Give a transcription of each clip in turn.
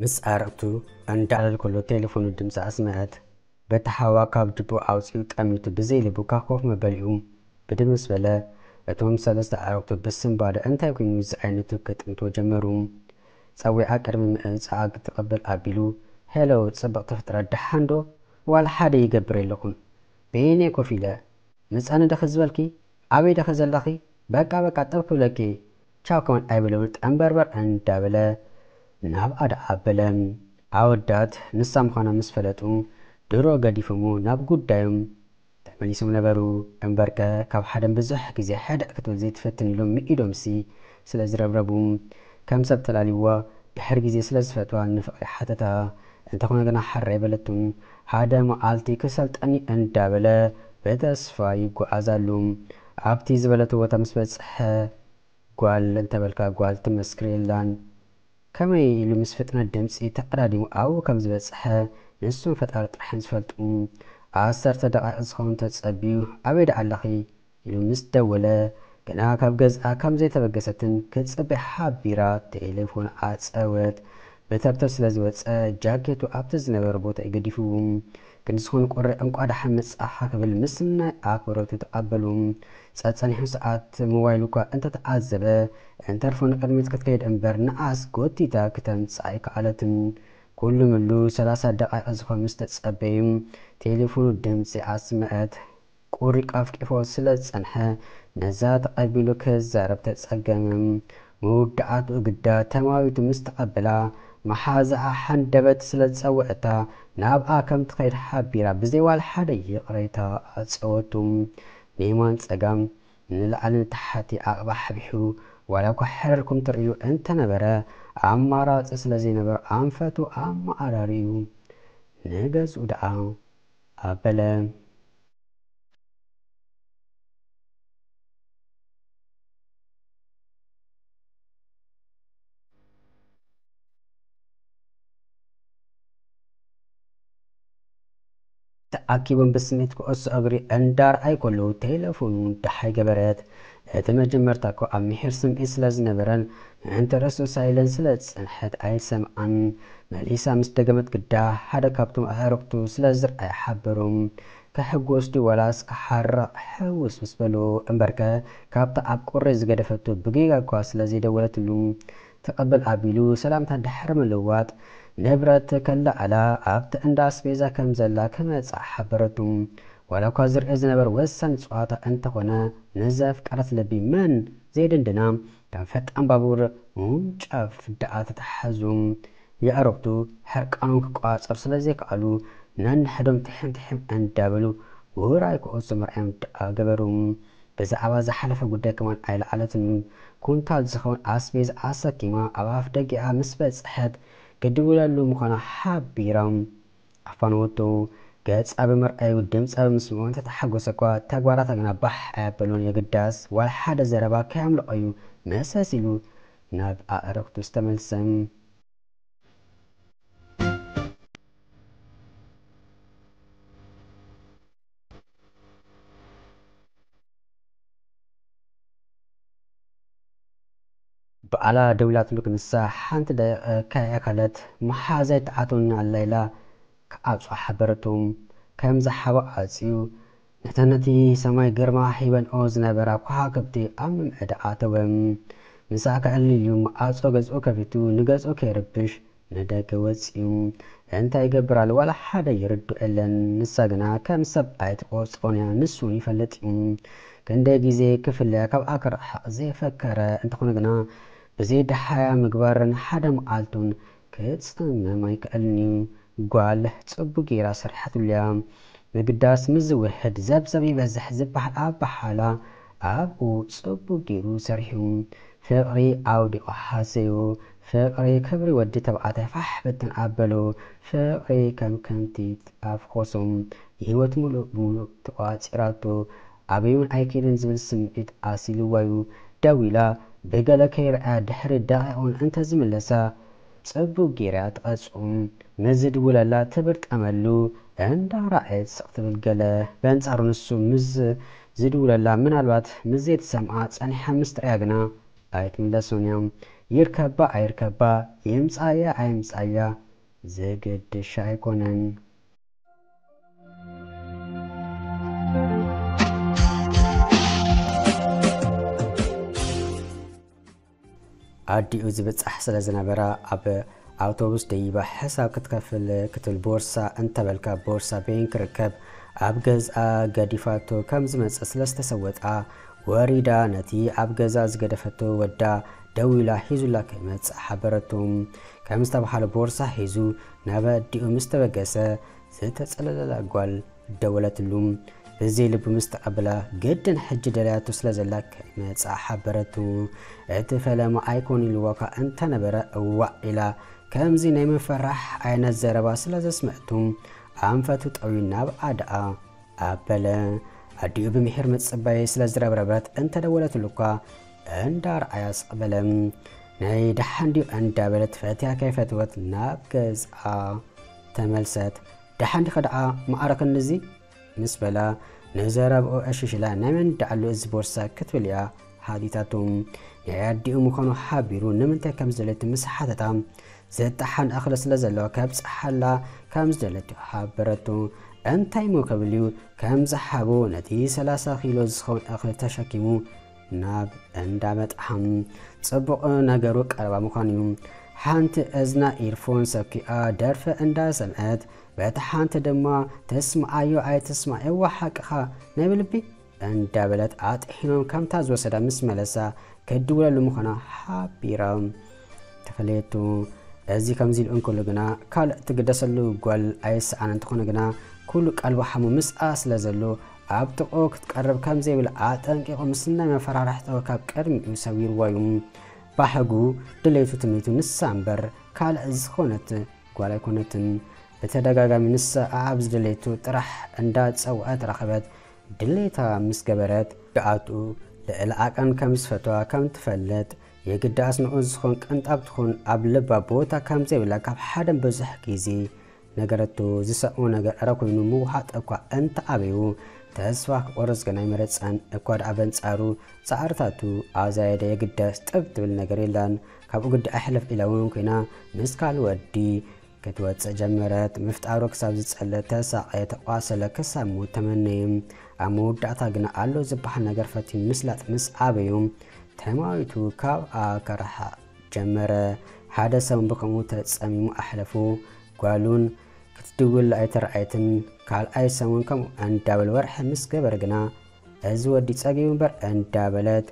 ምስ ኣዕርኽቱ እንዳዕለለ ከሎ ቴሌፎኑ ድምፂ ኣስምዐት። በቲ ሓዋ ካብ ጅብኡ ኣውፂኡ ጠሚቱ ብዘይ ልቡ ካብ ኮፍ መበሊኡ ብድም ምስ በለ፣ እቶም ሰለስተ ኣዕርኽቱ ብስንባደ እንታይ ኮይኑ ዝዓይነቱ ከጥምትዎ ጀመሩ። ፀዊዓ ቅድሚ ምእጻኣ ክትቕበል ኣቢሉ፣ "ሄሎ ፅብቕቲ ፍጥረት፣ ደሓን ዶ? ዋላ ሓደ ይገብር የለኹን። በየነይ ኮፍ ኢለ? ምጻኒ ደኺ ዝበልኪ? ኣበይ ደኺ ዘለኺ? በቃ በቃ ጥብ ክብለኪ። ቻው ከማን ኣይብለውን ጠንበርበር" እንዳበለ ናብኣ ደኣ ኣበለ። ኣወዳት ንሳ ምዃና ምስ ፈለጡ ድሮ ገዲፎሞ ናብ ጉዳዮም ተመሊሶም ነበሩ። እምበርከ ካብ ሓደን ብዙሕ ግዜ ሕድዕ ክትብል ዘይትፈትን ኢሎም ምኢዶምሲ ስለ ዝረብረቡ፣ ከም ሰብ ተላልይዋ ድሕሪ ግዜ ስለ ዝፈትዋ ንፍቕሪ ሓተታ። እንተኾነ ግና ሕራይ በለቱን፣ "ሓደ መዓልቲ ክሰልጠኒ" እንዳበለ ብተስፋ ይጓዓዝ ኣሉ። ኣብቲ ዝበለቶ ቦታ ምስ በጽሐ፣ ጓል እንተበልካ ጓል ትመስክር የላን። ከመይ ኢሉ ምስ ፍጥነት ድምጺ ተቐዳዲሙ ኣብኡ ከም ዝበጽሐ ንሱን ፈጣሪ ጥራሕ እዮም ዝፈልጡ። ዓሰርተ ደቓይቕ ዝኸውን ተጸብዩ፣ "ኣበይ ደኣ ኣለኺ?" ኢሉ ምስ ደወለ፣ ገና ካብ ገዝኣ ከም ዘይተበገሰትን ክትጽበ ሓቢራ ቴሌፎን ዓጸወት። ብተብተብ ስለ ዝወጸ ጃኬቱ ኣብቲ ዝነበረ ቦታ እዩ ገዲፍዎ። ክንዲ ዝኾነ ቁሪ "እንቋዕ ደሓን መጻእኻ" ክብል ምስ ናይ ኣኽብሮቱ ተቐበሉ። ጸጸኒሑ ሰዓት ሞባይሉ እኳ እንተተዓዘበ፣ እንተርፎ ንቕድሚት ክትከይድ እምበር ንኣስ ጎቲታ ክተምጽኣ ኣይከኣለትን። ኩሉ ምሉ ሰላሳ ደቓይቕ ዝኾን ምስ ተጸበዩ፣ ቴሌፎኑ ድምጺ ኣስምዐት። ቁሪ ቀፍቂፎ ስለ ዝጸንሐ፣ ነዛ ተቐቢሉ ክዛረብ ተጸገመ። መወዳእትኡ ግዳ ተማዊቱ ምስ ተቐበላ፣ መሓዛኣ ሃንደበት ስለ ዝጸውዐታ፣ ናብኣ ከም ትኸይድ ሓቢራ ብዘይ ዋላ ሓደ ይቕሬታ ኣጸወቱ። ብየማን ጸጋም፣ ንላዕሊ ንታሕቲ ኣቕባሕቢሑ፣ ዋላ እኳ ሕርር ክም ትርእዩ እንተነበረ፣ ኣማራጺ ስለ ዘይነበሮ ኣንፈቱ ኣመዓራርዩ ንገዝኡ ደኣ ኣበለ። ተኣኪቦም ብስኒት ኩዕሶ እግሪ እንዳርኣዩ ከለዉ ቴሌፎኑ ደሓይ ገበረት። እቲ መጀመርታ እኮ ኣብ ምሒር ስምዒት ስለ ዝነበረን ምእንቲ ርእሱ ሳይለንት ስለ ዝጸንሐት ኣይሰምዓን። መሊሳ ምስ ደገመት ግዳ ሓደ ካብቶም ኣዕሩኽቱ ስለ ዝርኣየ ሓበሮም። ክሕጎስ ድዩ ዋላስ ክሓርቕ ሕውስ ምስ በሉ እምበርከ ካብታ ኣብ ቁሪ ዝገደፈቱ ብጌጋ እኳ ስለ ዘይደወለትሉ ትቕብል ኣቢሉ ሰላምታ ድሕሪ ምልውዋጥ፣ ንብረት ከለዓዕላ ኣብቲ እንዳ ኣስቤዛ ከም ዘላ ክመጽኣ ሓበረቱ። ዋላ እኳ ዝርአ ዝነበረ ወሳኒ ጸዋታ እንተኾነ፣ ንዘፍቀረት ልቢ መን ዘየደንድና ከም ፈጣን ባቡር ምውንጫፍ ደኣ ተተሓዙ። የዕሩኽቱ ሕርቃኖም ክቋጸሩ ስለ ዘይከኣሉ፣ ነንሕዶም ትሕም ትሕም እንዳበሉ ውራይ ኩዕሶ ምርኣዮም ደኣ ገበሩ። ብዛዕባ ዝሓለፈ ጉዳይ ከማን ኣይለዓለትን። ኩንታል ዝኸውን ኣስቤዛ ኣሰኪማ ኣብ ኣፍ ደጊኣ ምስ በጽሐት፣ ክድውለሉ ምዃና ሓቢራ ኣፋነወቶ። ገጻ ብምርኣዩ ድምጻ ብምስምዑ እንተተሓጎሰ እኳ፣ ተግባራታ ግና ባሕ ኣያበሎን። የግዳስ ዋላ ሓደ ዘረባ ከየምለቖ'ዩ መሰስ ኢሉ ናብ ኣዕሩኽቱ ዝተመልሰ። በዓላ ደዊላትሉ ክንሳ ሓንቲ ደቂቕ ከይኣኸለት፣ መሓዛይ ተኣትወኒ ኣላ ኢላ ክዓጹ ሓበረቶም። ከም ዝሓቦ ዓጽዩ፣ ነተን ነቲ ሰማይ ግርማ ሂበንኦ ዝነበራ ከዋኽብቲ ኣብ ምምዕዳ ኣተወ። ምሳእ ከዕልል ኢሉ መዓጾ ገዝኡ ከፊቱ፣ ንገዝኡ ከይርብሽ ንደገ ወጺኡ። እንታይ ይገብር ኣሎ ዋላ ሓደ ይርድኦ የለን። ንሳ ግና ከም ሰብ ኣይትቖጽሮን እያ፣ ንሱ እውን ይፈልጥ እዩ። ክንደይ ግዜ ክፍለያ ካብኣ ክርሕቕ ዘይፈከረ እንተኾነ ግና፣ ብዘይ ደሃያ ምግባርን ሓደ መዓልቱን ክጽመም ኣይክእልን እዩ። ጓል ጽቡቕ ጌራ ሰሪሓትሉ እያ። ምግዳስ ምስ ዝውሕድ ዘብዘብ ይበዝሕ ዝበሃል ኣበሃህላ ኣብኡ ጽቡቕ ጌሩ ሰሪሑ። ፍቕሪ ኣውዲቑ ሃሰዮ። ፍቕሪ ክብሪ ወዲ ተባዕታይ ፋሕ ብትን ኣበሎ። ፍቕሪ ከም ከንቲ ኣፍኾሶ። ንህይወት ምሉእ ብምሉእ ተቋጺራቶ። ኣበይ እውን ኣይከይድን ዝብል ስምዒት ኣሲልዋዩ። ደው ኢላ ብገለ ከይርኣያ ድሕሪ ደቂቕ እውን እንተዝምለሳ፣ ጽቡቕ ጌራ ትቐጽዑ። ምስ ዝድውለላ ትብርጠመሉ፣ እንዳረኣየት ስቕ ትብል ገለ። በንጻሩ ንሱ ምስ ዝድውለላ ምናልባት ምስ ዘይትሰምዓ ጸኒሓ ምስ ትርእያ ግና ኣይትምለሱን እዮም። ይርከባ ኣይርከባ፣ ይምጻያ ኣይምጻያ፣ ዝግድሽ ኣይኮነን። ኣዲኡ ዝብጻሕ ስለ ዝነበራ፣ ኣብ ኣውቶቡስ ደይባ ሕሳብ ክትከፍል ክትብል፣ ቦርሳ እንተበልካ፣ ቦርሳ በይን ክርከብ ኣብ ገዝኣ ገዲፋቶ ከም ዝመጸ ስለ ዝተሰወጣ፣ ወሪዳ ነቲ ኣብ ገዛ ዝገደፈቶ ወዳ ደዊላ ሒዙላ ክመጽእ ሓበረቶ። ከም ዝተባሃለ፣ ቦርሳ ሒዙ ናብ ኣዲኡ ምስ ተበገሰ፣ ዝተጸለለላ ጓል ደወለትሉ። ብዘይ ልቡ ምስ ተቐበላ፣ ግድን ሕጂ ደልያቶ ስለ ዘላ ክመጽኣ ሓበረቱ። እቲ ፈለማ ኣይኮን ኢልዋ እኳ እንተነበረ፣ እዋእ ኢላ፣ ከምዚ ናይ ምፍራሕ ዓይነት ዘረባ ስለ ዘስምዐቱ፣ ኣንፈቱ ጠውዩ ናብ ኣድኣ ኣበለ። ኣዲኡ ብምሒር ምጽባይ ስለ ዝረብረበት፣ እንተደወለትሉ እኳ እንዳርኣያ ስቕ በለ። ናይ ደሓን ድዩ እንዳበለት፣ ፈትያ ከይፈትወት ናብ ገዝኣ ተመልሰት። ደሓን ዲኻ ደኣ፣ ማዕረክኒ እዚ? ምስ በላ፣ ንዘረብኡ ኣሽሽላ፣ ናይ መን ደኣሉ እዚ ቦርሳ ክትብል እያ ሓቲታቱ። ናይ ኣዲኡ ምዃኑ ሓቢሩ፣ ንምንታይ ከም ዝደለየቱ ምስ ሓተታ፣ ዘጣሓን እኽሊ ስለ ዘለዋ ከብጽሓላ ከም ዝደለየቱ ሓበረቱ። እንታይ እሞ ክብል እዩ፣ ከም ዝሓቦ ነቲ ሰላሳ ኪሎ ዝኸውን እኽሊ ተሸኪሙ ናብ እንዳ መጥሓም። ጽቡቕ ነገሩ ቀረባ ምዃኑ እዩ። ሓንቲ እዝና ኢርፎን ሰኪኣ ደርፈ እንዳሰምዐት፣ በቲ ሓንቲ ድማ፣ "ተስምዓዮ ኣይትስማዕ፣ እዋ ሓቅኻ፣ ናይ ብልቢ?" እንዳበለት ኣጥሒኖም ከምታ ዝወሰዳ ምስ መለሳ፣ ክድውለሉ ምዃና ሓቢራ ተፈለየቱ። እዚ ከምዚ ኢሉ እንከሎ ግና፣ ካልእ ትግደሰሉ ጓል ኣይሰኣን። እንተኾነ ግና፣ ኩሉ ቀልቡ ሓሙ ምስኣ ስለ ዘሎ፣ ኣብ ጥቕኡ ክትቀርብ ከም ዘይብላ ኣጠንቂቑ፣ ምስ ናይ መፈራርሒ ጠወል ካብ ቅድሚኡ ሰዊርዋ እዩ። ባህጉ፣ ድሌቱ፣ ትምኒቱ ንሳ እምበር ካልእ ዝኾነት ጓል ኣይኮነትን። ብተደጋጋሚ ንሳ ኣብ ዝደለየቱ ጥራሕ እንዳጸውዐት ረኸበት። ድሌታ ምስ ገበረት፣ ደኣቱ ልዕሊ ዓቐን ከም ዝፈትዋ ከም ትፈልጥ፣ የግዳስ ንኡ ዝኾን ቅንጣብ ትኹን ኣብ ልባ ቦታ ከም ዘይብላ ካብ ሓደን ብዙሕ ግዜ ነገረቶ። ዝሰምዖ ነገር ዕረ ኮይኑ ምውሓጥ እኳ እንተኣበዩ፣ ተስፋ ክቆርጽ ግን ኣይመረጸን። እኳ ደኣ በንጻሩ ጻዕርታቱ ኣዛየደ። የግዳስ ጥብ ትብል ነገር የላን። ካብኡ ግዲ ኣይሕለፍ ኢላ እውን ኮይና ምስ ካልእ ወዲ ክትወጽእ ጀመረት። ምፍጣሩ ክሳብ ዝጸለ ተሳቐየ፣ ተቋሰለ፣ ክሳብ ሞት ተመነየ። ኣብ መወዳእታ ግና ኣሎ ዝበሃል ነገር ፈትዩ ምስላጥ ምስ ኣበዩ፣ ተማዊቱ ካብኣ ክርሓቕ ጀመረ። ሓደ ሰሙን ብኸምኡ ተጸሚሙ ኣሕለፉ። ጓሉን ክትድውል ኣይተረኣየትን። ካልኣይ ሰሙን ከምኡ እንዳበለ ወርሒ ምስ ገበረ ግና፣ "እዚ ወዲ ጸጊቡ እምበር" እንዳበለት፣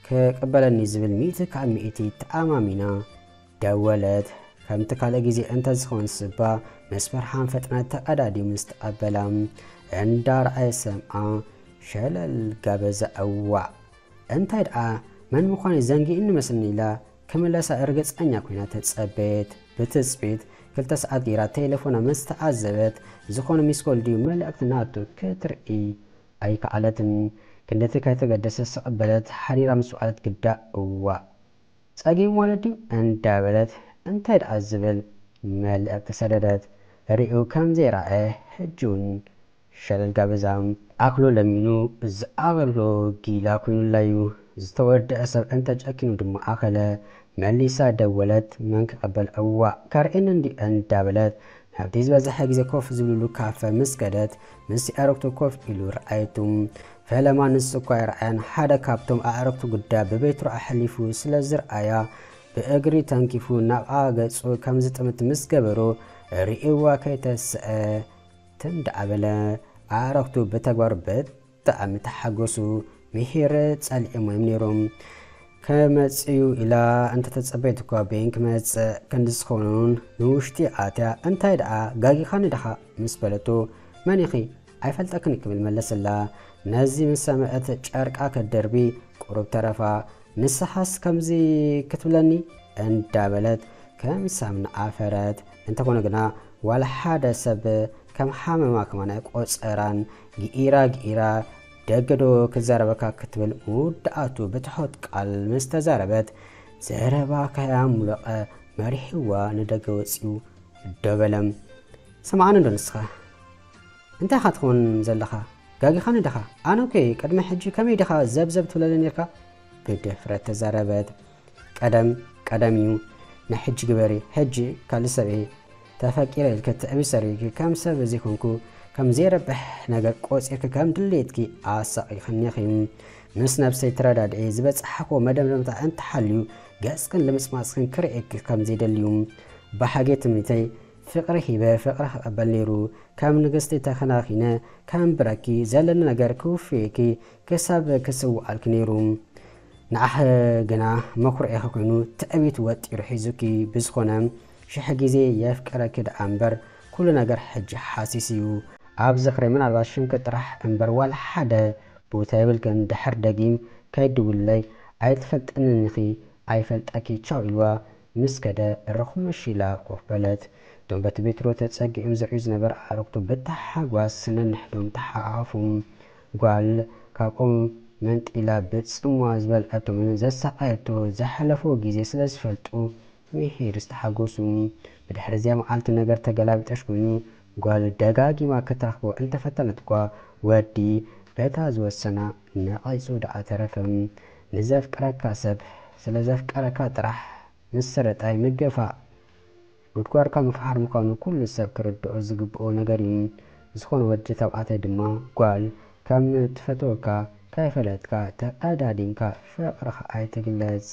"ክቕበለኒ" ዝብል ሚእቲ ካብ ሚእቲ ተኣማሚና ደወለት። ከምቲ ካልእ ግዜ እንተዝኸውን ስባ፣ ምስ ብርሃን ፍጥነት ተቐዳዲሙ ምስ ተቐበላ፣ እንዳረኣየ ሰምዓ፣ ሸለል ጋበዛ። "እዋእ! እንታይ ደኣ፣ መን ምዃነይ ዘንጊእኒ መስልኒ?" ኢላ ክምለሳ ርግጸኛ ኮይና ተጸበየት። ብትጽቢት ክልተ ሰዓት ገይራ ቴሌፎና ምስ ተዓዘበት፣ ዝኾነ ሚስኮል ድዩ መልእኽቲ ናቱ ክትርኢ ኣይከኣለትን። ክንደቲ ከይተገደሰ ስቕ በለት። ሓዲራ ምስ ወዓለት ግዳ፣ "እዋእ! ጸጊቡ ማለት ድዩ?" እንዳበለት፣ እንታይ ደኣ ዝብል መልእኽቲ ሰደደት። ርእዩ ከም ዘይረኣየ፣ ሕጂ እውን ሸለል ጋበዛ። ኣኽሎ ለሚኑ ዝኣኸሎ ጊላ ኮይኑላዩ። ዝተወደአ ሰብ እንተጨኪኑ ድማ ኣኸለ። መሊሳ ደወለት። መን ክቐበል? እዋእ፣ ከርእየኒ እንድዩ እንዳበለት፣ ናብቲ ዝበዝሐ ግዜ ኮፍ ዝብልሉ ካፈ ምስ ከደት፣ ምስ ኣዕሩኽቱ ኮፍ ኢሉ ረኣየቱ። ፈለማ ንሱ እኳ ኣይረኣያን፣ ሓደ ካብቶም ኣዕሩኽቱ ግዳ ብቤትሮ ኣሕሊፉ ስለ ዝረኣያ፣ ብእግሪ ተንኪፉ ናብኣ ገጹ ከም ዝጥምት ምስ ገበሮ፣ ርእይዋ ከይተስአ ትም ደኣ በለ። ኣዕሩኽቱ ብተግባሩ ብጣዕሚ ተሓጎሱ። ምሒር ጸሊኦም እዮም ነይሮም። ክመጽእ እዩ ኢላ እንተተጸበየት እኳ፣ በይን ክመጽእ ክንዲ ዝኾኑን ንውሽጢ ኣትያ፣ "እንታይ ደኣ ጋጊኻኒ ዲኻ?" ምስ በለቶ፣ "መን ኢኺ? ኣይፈልጠክን" ክብል መለሰላ። ነዚ ምስ ሰምዐት ጨርቃ ክትደርቢ ቁሩብ ተረፋ። "ንስኻስ ከምዚ ክትብለኒ?" እንዳበለት ከም ሳምና ዓፈረት። እንተኾነ ግና ዋላ ሓደ ሰብ ከም ሓመማ ከማን ኣይቆጸራን። ግኢራ ግኢራ፣ "ደገ ዶ ክዛረበካ?" ክትብል መወዳእቱ ብትሑት ቃል ምስ ተዛረበት፣ ዘረባ ከያሙለቐ መሪሕዋ ንደገ ወጺኡ ደው በለ። "ስምዓኒ እንዶ ንስኻ? እንታይ ኢኻ ትኸውን ዘለኻ? ጋጊኻኒ ዲኻ? ኣነ እኮ ቅድሚ ሕጂ ከመይ ዲኻ ዘብዘብ ትብለኒ ኔርካ?" ብድፍረት ተዛረበት። ቀደም ቀደም እዩ። ናይ ሕጂ ግበሪ። ሕጂ ካልእ ሰብ እየ። ተፈቂረ ኢልኪ ትዕቢ ሰሪርኪ ከም ሰብ ዘይኮንኩ ከም ዘይረብሕ ነገር ቆጺርኪ ከም ድሌትኪ ኣሳቒኽኒ ኢኺ። ምስ ነብሰይ ተረዳድኤ ዝበጻሕክዎ መደምደምታ እንተሃልዩ ገጽክን ልምጽማጽክን ክርእየኪ ከም ዘይደልዩ። ብሓጌ ትምኒተይ ፍቕሪ ሂበ ፍቕሪ ክቕበል ነይሩ። ከም ንግስቲ ተኸናኺነ ከንብረኪ፣ ዘለኒ ነገር ክውፍየኪ ክሳብ ክስውኣልኪ ነይሩ። ንዓኺ ግና መኹርዒኺ ኮይኑ ትዕቢት ወጢሩ ሒዙኪ። ብዝኾነ ሽሕ ግዜ የፍቅረኪ ደኣ እምበር ኩሉ ነገር ሕጂ ሓሲስ እዩ። ኣብ ዝኽሪ ምናልባት ሽምኪ ጥራሕ እምበር ዋላ ሓደ ቦታ የብልክን። ድሕር ደጊም ከይድውለይ ኣይትፈልጥንን ኢኺ፣ ኣይፈልጠኪ ቻው ኢልዋ ምስ ከደ ርኹምሽ ኢላ ኮፍ በለት። እቶም በቲ ቤትሮ ተጸጊዖም ዝርእዩ ዝነበረ ኣዕሩኽቱ ብታሓጓስ ነንሕዶም ተሓቋቖፉ። ጓል ካብኦም መንጢላ ብጽምዋ ዝበልዐቶምን ዘሳቐየቶ ዝሓለፎ ግዜ ስለ ዝፈልጡ ምሒር ዝተሓጎሱ። ብድሕሪ እዚኣ መዓልቲ ነገር ተገላቢጦሽ ኮይኑ ጓል ደጋጊማ ክትረኽቦ እንተፈተነት እኳ ወዲ በታ ዝወሰና ነቒጹ ደኣ ተረፈ። ንዘፍቅረካ ሰብ ስለ ዘፍቀረካ ጥራሕ ምስርጣይ ምግፋዕ ጉድጓድካ ምፍሓር ምዃኑ ኩሉ ሰብ ክርድኦ ዝግብኦ ነገር እዩ። ዝኾነ ወዲ ተባዕታይ ድማ ጓል ከም ትፈትወካ ከይፈለጥካ ተቐዳዲምካ ፍቕርኻ ኣይትግለጽ።